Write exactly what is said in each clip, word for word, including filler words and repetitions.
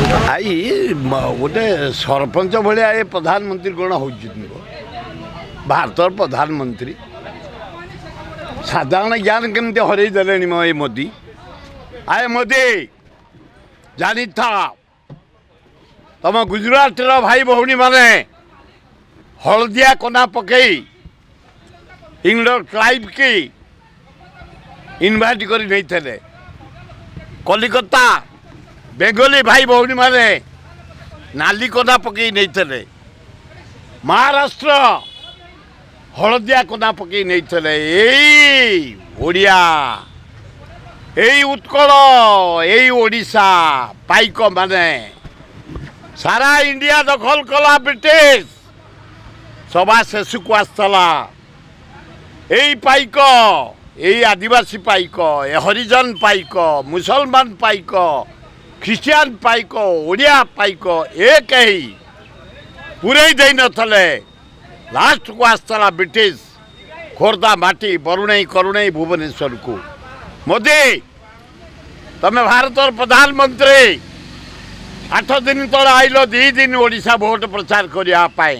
I ଗୋଟେ ସରପଞ୍ଚ ଭଳିଆ ଏ ପ୍ରଧାନମନ୍ତ୍ରୀ କ'ଣ ହେଉଛନ୍ତି? ଭାରତର ପ୍ରଧାନମନ୍ତ୍ରୀ ସାଧାରଣ ଜ୍ଞାନ କେମିତି ହରେଇ ଦେଲେଣି ମ ଏ ମୋଦି। ଆଏ ମୋଦି, ଜାଣିଥା, ତମ ଗୁଜୁରାଟର ଭାଇ ଭଉଣୀମାନେ ହଳଦିଆ କନା ପକେଇ ଇଂଲଣ୍ଡ କ୍ଲାଇଭ୍କି ଇନଭାଇଟ୍ କରି ନେଇଥିଲେ। କଲିକତା ବେଙ୍ଗଲୀ ଭାଇ ଭଉଣୀମାନେ ନାଲି କନା ପକେଇ ନେଇଥିଲେ। ମହାରାଷ୍ଟ୍ର ହଳଦିଆ କନା ପକେଇ ନେଇଥିଲେ। ଏଇ ଓଡ଼ିଆ, ଏଇ ଉତ୍କଳ, ଏଇ ଓଡ଼ିଶା ପାଇକ ମାନେ ସାରା ଇଣ୍ଡିଆ ଦଖଲ କଲା। ବ୍ରିଟିଶ ସଭା ଶେଷକୁ ଆସିଥିଲା। ଏଇ ପାଇକ, ଏଇ ଆଦିବାସୀ ପାଇକ, ଏ ହରିଜନ ପାଇକ, ମୁସଲମାନ ପାଇକ, ଖ୍ରୀଷ୍ଟିଆନ ପାଇକ, ଓଡ଼ିଆ ପାଇକ ଏ କେହି ପୁରେଇ ଦେଇନଥିଲେ। ଲାଷ୍ଟକୁ ଆସିଥିଲା ବ୍ରିଟିଶ ଖୋର୍ଦ୍ଧା ମାଟି ବରୁଣେଇ କରୁଣେଇ ଭୁବନେଶ୍ୱରକୁ। ମୋଦି, ତମେ ଭାରତର ପ୍ରଧାନମନ୍ତ୍ରୀ, ଆଠ ଦିନ ତଳେ ଆଇଲ ଦୁଇ ଦିନ ଓଡ଼ିଶା ଭୋଟ ପ୍ରଚାର କରିବା ପାଇଁ।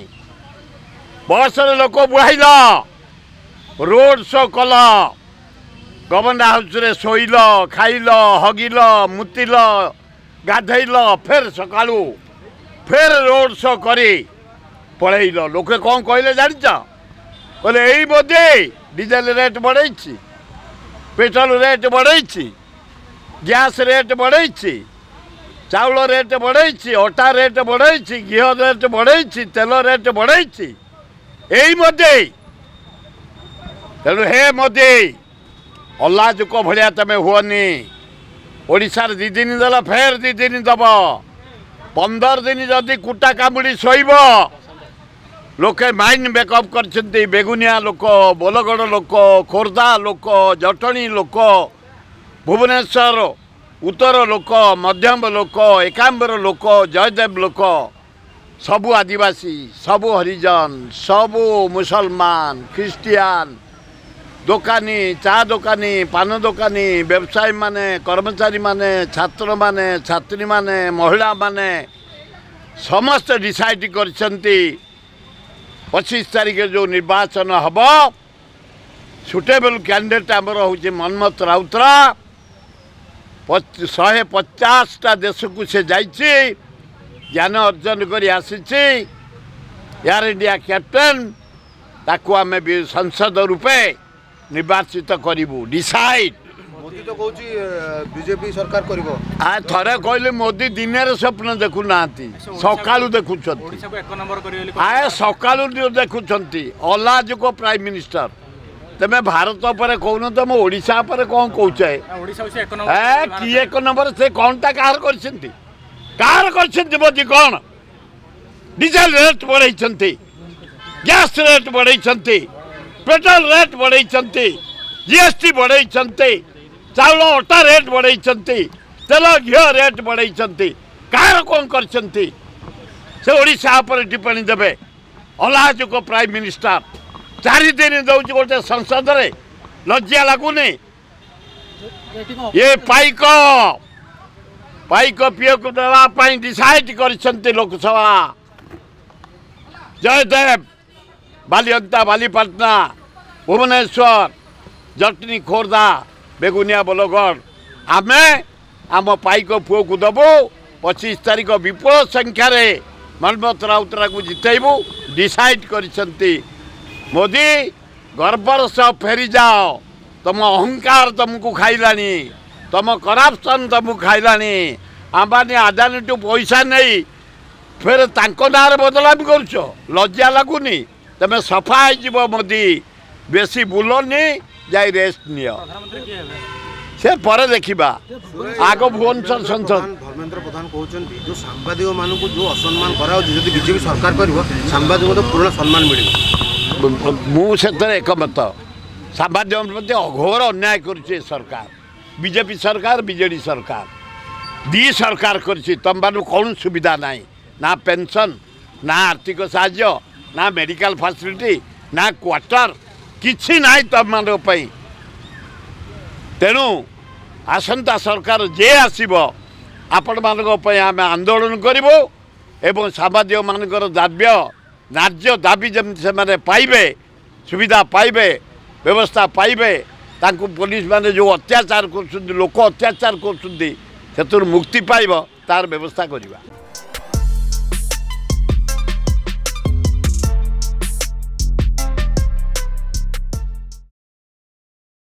ବସରେ ଲୋକ ବୁହାଇଲ, ରୋଡ଼ ଶୋ କଲ, ଗଭର୍ଣ୍ଣର ହାଉସରେ ଶୋଇଲ, ଖାଇଲ, ହଗିଲ, ମୁତିଲ, ଗାଧେଇଲ, ଫେର ସକାଳୁ ଫେର ରୋଡ଼ ଶୋ କରି ପଳେଇଲ। ଲୋକେ କ'ଣ କହିଲେ ଜାଣିଛ? କହିଲେ ଏଇ ମୋଦି ଡିଜେଲ ରେଟ୍ ବଢ଼େଇଛି, ପେଟ୍ରୋଲ ରେଟ୍ ବଢ଼େଇଛି, ଗ୍ୟାସ୍ ରେଟ୍ ବଢ଼େଇଛି, ଚାଉଳ ରେଟ୍ ବଢ଼େଇଛି, ଅଟା ରେଟ୍ ବଢ଼େଇଛି, ଘିଅ ରେଟ୍ ବଢ଼େଇଛି, ତେଲ ରେଟ୍ ବଢ଼େଇଛି ଏଇ ମୋଦି। ତେଣୁ ହେ ମୋଦି, ଅଲାଜୁକ ଭଳିଆ ତମେ ହୁଅନି। ଓଡ଼ିଶାରେ ଦୁଇ ଦିନ ଦେଲ, ଫେର ଦୁଇ ଦିନ ଦେବ। ପନ୍ଦର ଦିନ ଯଦି କୁଟା କାମୁଡ଼ି ଶୋଇବ, ଲୋକେ ମାଇଣ୍ଡ ମେକଅପ୍ କରିଛନ୍ତି। ବେଗୁନିଆ ଲୋକ, ବୋଲଗଡ଼ ଲୋକ, ଖୋର୍ଦ୍ଧା ଲୋକ, ଜଟଣୀ ଲୋକ, ଭୁବନେଶ୍ୱର ଉତ୍ତର ଲୋକ, ମଧ୍ୟମ ଲୋକ, ଏକାମ୍ବର ଲୋକ, ଜୟଦେବ ଲୋକ, ସବୁ ଆଦିବାସୀ, ସବୁ ହରିଜନ, ସବୁ ମୁସଲମାନ, ଖ୍ରୀଷ୍ଟିଆନ, ଦୋକାନୀ, ଚା ଦୋକାନୀ, ପାନ ଦୋକାନୀ, ବ୍ୟବସାୟୀମାନେ, କର୍ମଚାରୀମାନେ, ଛାତ୍ରମାନେ, ଛାତ୍ରୀମାନେ, ମହିଳାମାନେ ସମସ୍ତେ ଡିସାଇଡ଼ କରିଛନ୍ତି ପଚିଶ ତାରିଖରେ ଯେଉଁ ନିର୍ବାଚନ ହେବ, ସୁଟେବଲ୍ କ୍ୟାଣ୍ଡିଡେଟ୍ ଆମର ହେଉଛି ମନ୍ମଥ ରାଉତରା। ଶହେ ପଚାଶଟା ଦେଶକୁ ସେ ଯାଇଛି, ଜ୍ଞାନ ଅର୍ଜନ କରି ଆସିଛି, ଏୟାର ଇଣ୍ଡିଆ କ୍ୟାପ୍ଟେନ୍। ତାକୁ ଆମେ ସଂସଦ ରୂପେ ନିର୍ବାଚିତ କରିବୁ, ଡିସାଇଡ୍। ମୋଦି ତ କହୁଛି ବିଜେପି ସରକାର କରିବ। ଆ ଥରେ କହିଲେ ମୋଦି ଦିନରେ ସ୍ୱପ୍ନ ଦେଖୁନାହାନ୍ତି, ସକାଳୁ ଦେଖୁଛନ୍ତି। ଆ ସକାଳୁ ଦେଖୁଛନ୍ତି। ଅଲାଜୁକ ପ୍ରାଇମ୍ ମିନିଷ୍ଟର। ତମେ ଭାରତ ଉପରେ କହୁନ, ତମ ଓଡ଼ିଶା ଉପରେ କ'ଣ କହୁଛ? ଏ କି ଏକ ନମ୍ବର? ସେ କ'ଣଟା କାହାର କରିଛନ୍ତି? କାହାର କରିଛନ୍ତି ମୋଦି? କ'ଣ ଡିଜେଲ ରେଟ୍ ବଢ଼େଇଛନ୍ତି, ଗ୍ୟାସ୍ ରେଟ୍ ବଢ଼େଇଛନ୍ତି, ପେଟ୍ରୋଲ ରେଟ୍ ବଢ଼େଇଛନ୍ତି, ଜିଏସ୍ଟି ବଢ଼େଇଛନ୍ତି, ଚାଉଳ ଅଟା ରେଟ୍ ବଢ଼େଇଛନ୍ତି, ତେଲ ଘିଅ ରେଟ୍ ବଢ଼େଇଛନ୍ତି। କାହାର କ'ଣ କରିଛନ୍ତି? ସେ ଓଡ଼ିଶା ଉପରେ ଟିପ୍ପଣୀ ଦେବେ? ଅଲାଜୁକ ପ୍ରାଇମ୍ ମିନିଷ୍ଟର। ଚାରି ଦିନ ଦେଉଛି ଗୋଟେ ସଂସଦରେ, ଲଜ୍ଜା ଲାଗୁନି? ଏ ପାଇକ ପାଇକ ପିଅକୁ ଦେବା ପାଇଁ ଡିସାଇଡ୍ କରିଛନ୍ତି ଲୋକସଭା। ଜୟଦେବ, ବାଲିଅନ୍ତା, ବାଲିପାଟଣା, ଭୁବନେଶ୍ୱର, ଜଟଣୀ, ଖୋର୍ଦ୍ଧା, ବେଗୁନିଆ, ବୋଲଗଡ଼, ଆମେ ଆମ ପାଇକ ପୁଅକୁ ଦେବୁ। ପଚିଶ ତାରିଖ ବିପୁଳ ସଂଖ୍ୟାରେ ମନ୍ମଥ ରାଉତରାକୁ ଜିତେଇବୁ, ଡିସାଇଡ୍ କରିଛନ୍ତି। ମୋଦି, ଗର୍ବର ସହ ଫେରିଯାଅ। ତମ ଅହଙ୍କାର ତମକୁ ଖାଇଲାଣି, ତମ କରପ୍ସନ୍ ତମକୁ ଖାଇଲାଣି। ଆମ୍ବାନୀ ଆଦାନୀଠୁ ପଇସା ନେଇ ଫେର ତାଙ୍କ ନାଁରେ ବଦନାମି କରୁଛ, ଲଜ୍ଜା ଲାଗୁନି? ତମେ ସଫା ହେଇଯିବ ମୋଦି। ବେଶୀ ବୁଲନି, ଯାଇ ରେଷ୍ଟ ନିଅ, ସେ ପରେ ଦେଖିବା। ଆଗ ଭୁବନେଶ୍ୱର ସଂସଦ। ଧର୍ମେନ୍ଦ୍ର ପ୍ରଧାନ କହୁଛନ୍ତି ଯେଉଁ ସାମ୍ବାଦିକମାନଙ୍କୁ ଯେଉଁ ଅସମ୍ମାନ କରାଯାଉଛି, ଯଦି ବିଜେପି ସରକାର କରିବ ସାମ୍ବାଦିକଙ୍କୁ ତ ପୁରୁଣା ସମ୍ମାନ ମିଳିବ। ମୁଁ ସେଥିରେ ଏକମତ। ସାମ୍ବାଦିକଙ୍କ ପ୍ରତି ଅଘୋର ଅନ୍ୟାୟ କରୁଛି ଏ ସରକାର, ବିଜେପି ସରକାର, ବିଜେଡ଼ି ସରକାର, ଦୁଇ ସରକାର କରିଛି। ତମମାନଙ୍କୁ କୌଣସି ସୁବିଧା ନାହିଁ, ନା ପେନସନ୍, ନା ଆର୍ଥିକ ସାହାଯ୍ୟ, ନା ମେଡ଼ିକାଲ ଫାସିଲିଟି, ନା କ୍ୱାର୍ଟର, କିଛି ନାହିଁ ତମମାନଙ୍କ ପାଇଁ। ତେଣୁ ଆସନ୍ତା ସରକାର ଯିଏ ଆସିବ, ଆପଣମାନଙ୍କ ପାଇଁ ଆମେ ଆନ୍ଦୋଳନ କରିବୁ ଏବଂ ସାମ୍ବାଦିକମାନଙ୍କର ଦାବ୍ୟ ନ୍ୟାଯ୍ୟ ଦାବି ଯେମିତି ସେମାନେ ପାଇବେ, ସୁବିଧା ପାଇବେ, ବ୍ୟବସ୍ଥା ପାଇବେ, ତାଙ୍କୁ ପୋଲିସ ମାନେ ଯେଉଁ ଅତ୍ୟାଚାର କରୁଛନ୍ତି, ଲୋକ ଅତ୍ୟାଚାର କରୁଛନ୍ତି, ସେଥିରୁ ମୁକ୍ତି ପାଇବ, ତାର ବ୍ୟବସ୍ଥା କରିବା।